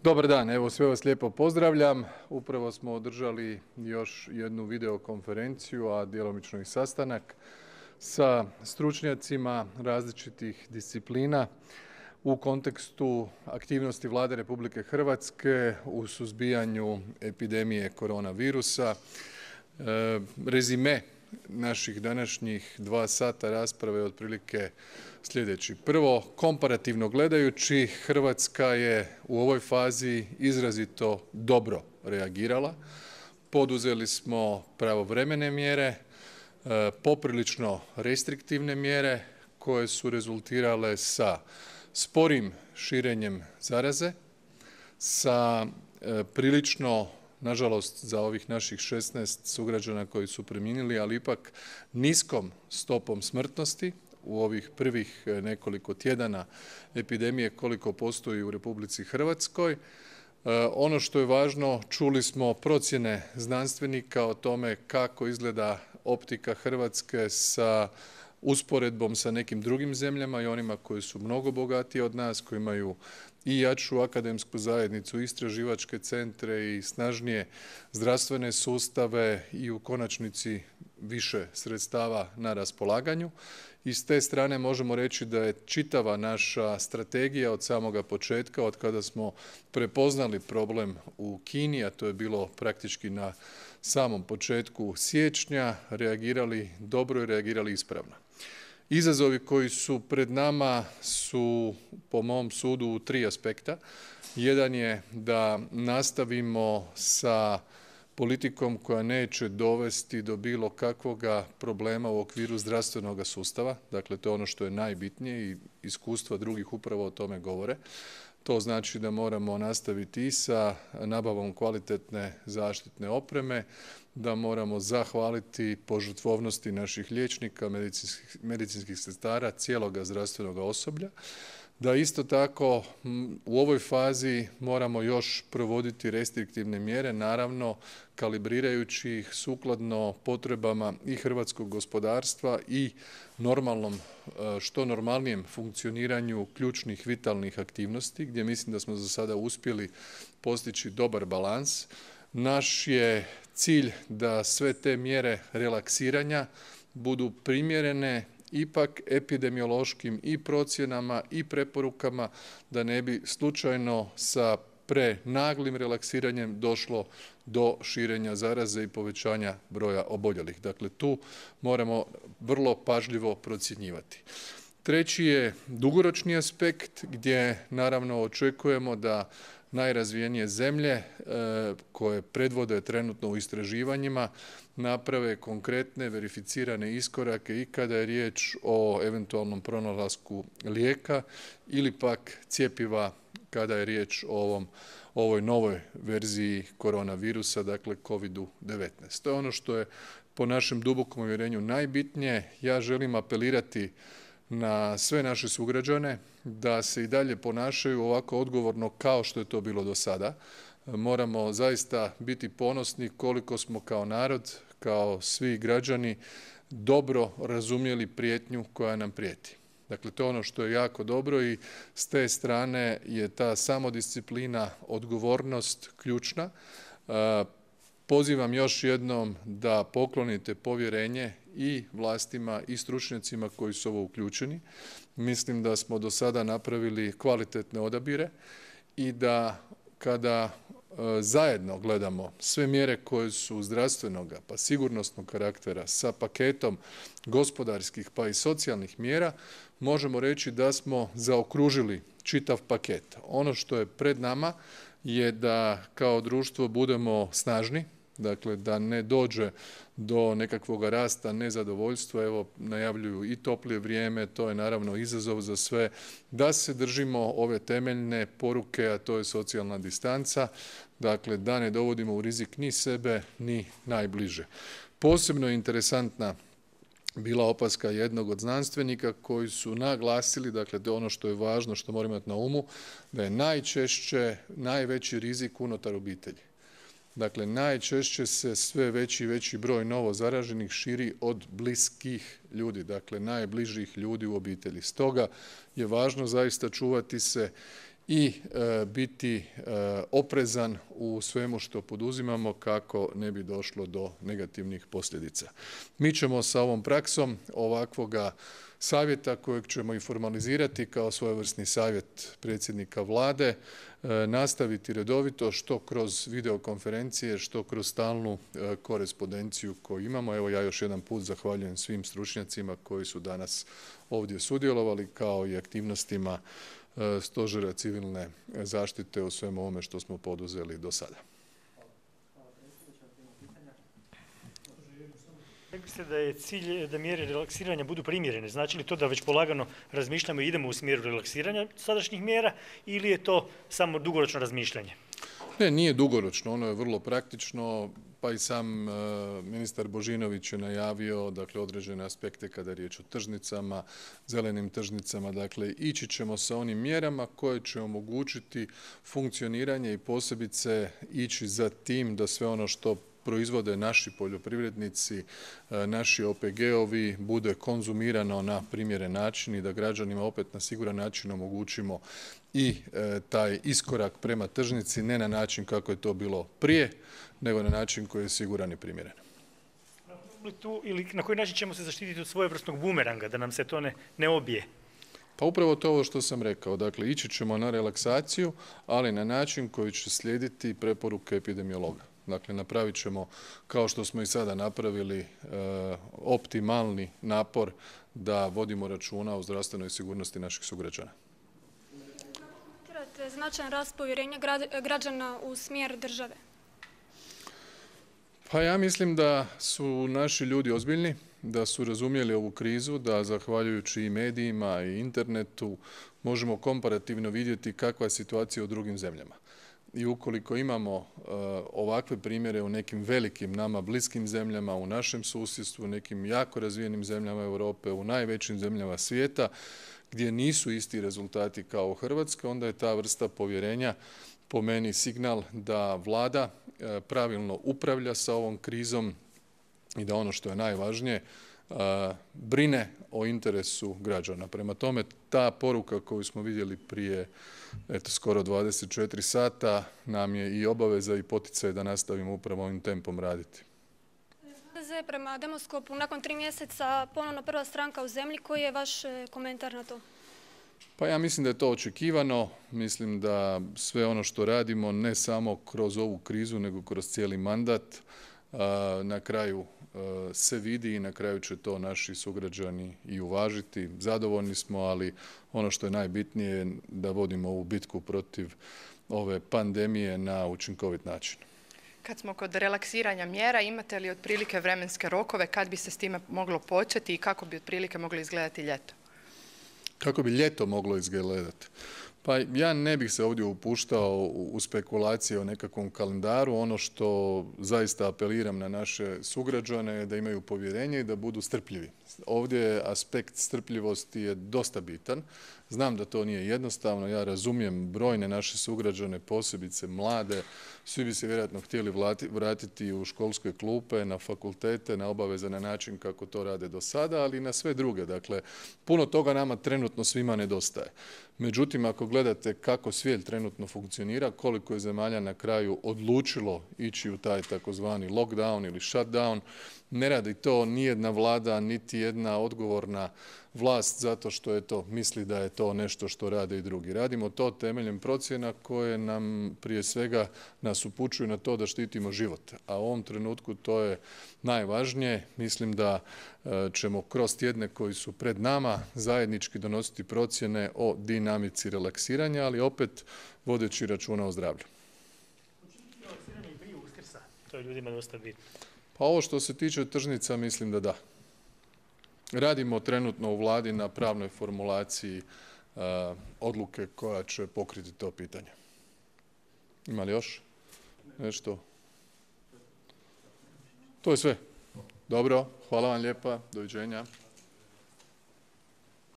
Dobar dan, evo sve vas lijepo pozdravljam. Upravo smo održali još jednu videokonferenciju, a djelomično i sastanak sa stručnjacima različitih disciplina u kontekstu aktivnosti Vlade Republike Hrvatske u suzbijanju epidemije koronavirusa. Rezime naših današnjih 2 sata rasprave je otprilike sljedeći. Prvo, komparativno gledajući, Hrvatska je u ovoj fazi izrazito dobro reagirala. Poduzeli smo pravovremene mjere, poprilično restriktivne mjere koje su rezultirale sa sporim širenjem zaraze, sa prilično, nažalost za ovih naših 16 sugrađana koji su preminuli, ali ipak niskom stopom smrtnosti u ovih prvih nekoliko tjedana epidemije koliko postoji u Republici Hrvatskoj. Ono što je važno, čuli smo procjene znanstvenika o tome kako izgleda optika Hrvatske sa usporedbom sa nekim drugim zemljama i onima koji su mnogo bogatiji od nas, koji imaju i jaču akademsku zajednicu, istraživačke centre i snažnije zdravstvene sustave i u konačnici više sredstava na raspolaganju. I s te strane možemo reći da je čitava naša strategija od samoga početka, od kada smo prepoznali problem u Kini, a to je bilo praktički na samom početku siječnja, reagirali dobro i reagirali ispravno. Izazovi koji su pred nama su po mom sudu u 3 aspekta. Jedan je da nastavimo sa politikom koja neće dovesti do bilo kakvoga problema u okviru zdravstvenoga sustava. Dakle, to je ono što je najbitnije i iskustva drugih upravo o tome govore. To znači da moramo nastaviti i sa nabavom kvalitetne zaštitne opreme, da moramo zahvaliti požrtvovnosti naših liječnika, medicinskih sestara, cijeloga zdravstvenog osoblja, da isto tako u ovoj fazi moramo još provoditi restriktivne mjere, naravno kalibrirajući ih sukladno potrebama i hrvatskog gospodarstva i normalnom, što normalnijem funkcioniranju ključnih vitalnih aktivnosti, gdje mislim da smo za sada uspjeli postići dobar balans. Naš je cilj da sve te mjere relaksiranja budu primjerene ipak epidemiološkim i procjenama i preporukama, da ne bi slučajno sa prenaglim relaksiranjem došlo do širenja zaraze i povećanja broja oboljelih. Dakle, tu moramo vrlo pažljivo procjenjivati. Treći je dugoročni aspekt gdje naravno očekujemo da najrazvijenije zemlje koje predvode trenutno u istraživanjima naprave konkretne verificirane iskorake i kada je riječ o eventualnom pronalasku lijeka ili pak cjepiva kada je riječ o ovoj novoj verziji koronavirusa, dakle COVID-19. To je ono što je po našem dubokom uvjerenju najbitnije. Ja želim apelirati na sve naše sugrađane da se i dalje ponašaju ovako odgovorno kao što je to bilo do sada. Moramo zaista biti ponosni koliko smo kao narod, kao svi građani dobro razumjeli prijetnju koja nam prijeti. Dakle, to je ono što je jako dobro i s te strane je ta samodisciplina, odgovornost ključna. Pozivam još jednom da poklonite povjerenje i vlastima i stručnjacima koji su ovo uključeni. Mislim da smo do sada napravili kvalitetne odabire i da kada zajedno gledamo sve mjere koje su zdravstvenoga pa sigurnosnog karaktera sa paketom gospodarskih pa i socijalnih mjera, možemo reći da smo zaokružili čitav paket. Ono što je pred nama je da kao društvo budemo snažni, dakle da ne dođe do nekakvog rasta nezadovoljstva. Evo najavljuju i toplije vrijeme, to je naravno izazov za sve, da se držimo ove temeljne poruke, a to je socijalna distanca, dakle da ne dovodimo u rizik ni sebe ni najbliže. Posebno je interesantna bila opaska jednog od znanstvenika koji su naglasili, dakle to je ono što je važno, što moramo imati na umu, da je najčešće najveći rizik unutar obitelji. Dakle, najčešće se sve veći i veći broj novo zaraženih širi od bliskih ljudi, dakle najbližih ljudi u obitelji. Stoga je važno zaista čuvati se i biti oprezan u svemu što poduzimamo kako ne bi došlo do negativnih posljedica. Mi ćemo sa ovom praksom ovakvoga savjeta kojeg ćemo i formalizirati kao svojevrsni savjet predsjednika Vlade nastaviti redovito što kroz videokonferencije, što kroz stalnu korespondenciju koju imamo. Evo ja još jedan put zahvaljujem svim stručnjacima koji su danas ovdje sudjelovali kao i aktivnostima Stožera civilne zaštite u svemu ovome što smo poduzeli do sada. Rekli ste da je cilj da mjere relaksiranja budu primjerene. Znači li to da već polagano razmišljamo i idemo u smjeru relaksiranja sadašnjih mjera ili je to samo dugoročno razmišljanje? Ne, nije dugoročno, ono je vrlo praktično, pa i sam ministar Božinović je najavio dakle, određene aspekte kada je riječ o tržnicama, zelenim tržnicama, dakle ići ćemo sa onim mjerama koje će omogućiti funkcioniranje i posebice ići za tim da sve ono što proizvode naši poljoprivrednici, naši OPG-ovi bude konzumirano na primjeren način i da građanima opet na siguran način omogućimo i taj iskorak prema tržnici, ne na način kako je to bilo prije, nego na način koji je siguran i primjeren. Ili na koji način ćemo se zaštititi od svojevrsnog bumeranga, da nam se to ne obije? Pa upravo to ovo što sam rekao, dakle ići ćemo na relaksaciju, ali na način koji će slijediti preporuke epidemiologa. Dakle, napravit ćemo, kao što smo i sada napravili, optimalni napor da vodimo računa o zdravstvenoj sigurnosti naših sugrađana. Komentirate značajan rast povjerenja građana u smjer države? Pa ja mislim da su naši ljudi ozbiljni, da su razumjeli ovu krizu, da zahvaljujući i medijima i internetu možemo komparativno vidjeti kakva je situacija u drugim zemljama. I ukoliko imamo ovakve primjere u nekim velikim nama bliskim zemljama, u našem susjedstvu, u nekim jako razvijenim zemljama Europe, u najvećim zemljama svijeta, gdje nisu isti rezultati kao u Hrvatskoj, onda je ta vrsta povjerenja po meni signal da Vlada pravilno upravlja sa ovom krizom i da ono što je najvažnije, brine o interesu građana. Prema tome, ta poruka koju smo vidjeli prije skoro 24 sata nam je i obaveza i poticaj da nastavimo upravo ovim tempom raditi. HDZ je prema Demoskopu nakon 3 mjeseca ponovno prva stranka u zemlji. Koji je vaš komentar na to? Pa ja mislim da je to očekivano. Mislim da sve ono što radimo ne samo kroz ovu krizu nego kroz cijeli mandat na kraju se vidi i na kraju će to naši sugrađani i uvažiti. Zadovoljni smo, ali ono što je najbitnije je da vodimo ovu bitku protiv ove pandemije na učinkovit način. Kad smo kod relaksiranja mjera, imate li otprilike vremenske rokove kad bi se s time moglo početi i kako bi otprilike moglo izgledati ljeto? Kako bi ljeto moglo izgledati? Pa ja ne bih se ovdje upuštao u spekulacije o nekakvom kalendaru. Ono što zaista apeliram na naše sugrađane je da imaju povjerenje i da budu strpljivi. Ovdje aspekt strpljivosti je dosta bitan. Znam da to nije jednostavno, ja razumijem brojne naše sugrađane, posebice mlade, svi bi se vjerojatno htjeli vratiti u školske klupe, na fakultete, na obavezan način kako to rade do sada, ali i na sve druge. Dakle, puno toga nama trenutno svima nedostaje. Međutim, ako gledate kako svijet trenutno funkcionira, koliko je zemalja na kraju odlučilo ići u taj takozvani lockdown ili shutdown, ne radi to nijedna vlada, niti jedna odgovorna vlast zato što je to, misli da je to nešto što rade i drugi. Radimo to temeljem procjena koje nam prije svega nas upućuju na to da štitimo život. A u ovom trenutku to je najvažnije. Mislim da ćemo kroz tjedne koji su pred nama zajednički donositi procjene o dinamici relaksiranja, ali opet vodeći računa o zdravlju. Relaksiranje i prije Uskrsa, to je ljudima dosta bitno. Pa ovo što se tiče tržnica mislim da da. Radimo trenutno u Vladi na pravnoj formulaciji odluke koja će pokriti to pitanje. Ima li još nešto? To je sve. Dobro, hvala vam lijepa, doviđenja.